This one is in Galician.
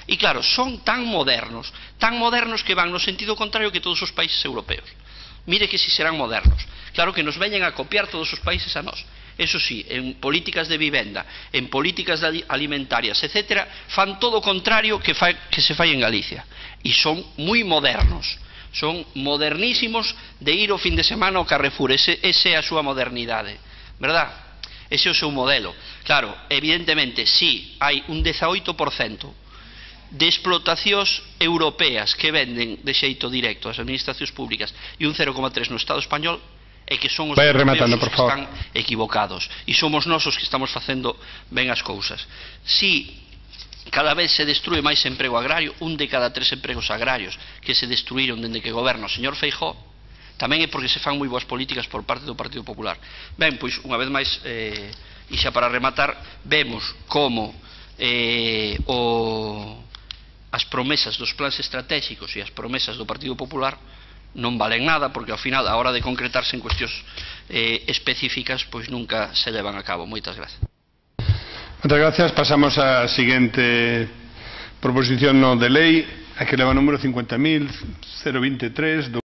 E claro, son tan modernos que van no sentido contrario que todos os países europeos. Mire que si serán modernos. Claro que nos veñen a copiar todos os países a nós. Eso sí, en políticas de vivenda, en políticas alimentarias, etc., fan todo o contrario que se fai en Galicia. E son moi modernos. Son modernísimos de ir o fin de semana ao Carrefour. Ese é a súa modernidade, verdad? Ese é o seu modelo. Claro, evidentemente, si hai un 18% de explotacións europeas que venden de xeito directo as administracións públicas e un 0,3% no Estado español, é que son os europeos os que están equivocados. E somos nós os que estamos facendo ben as cousas. Si cada vez se destrue máis emprego agrario, un de cada 3 empregos agrarios que se destruíron dende que goberna o señor Feijóo, tamén é porque se fan moi boas políticas por parte do Partido Popular. Ben, pois, unha vez máis, e xa para rematar, vemos como as promesas dos plans estratégicos e as promesas do Partido Popular non valen nada, porque ao final, a hora de concretarse en cuestións específicas, pois nunca se levan a cabo. Moitas gracias. Muchas gracias. Pasamos a la siguiente proposición no de ley, que lleva número 50.023.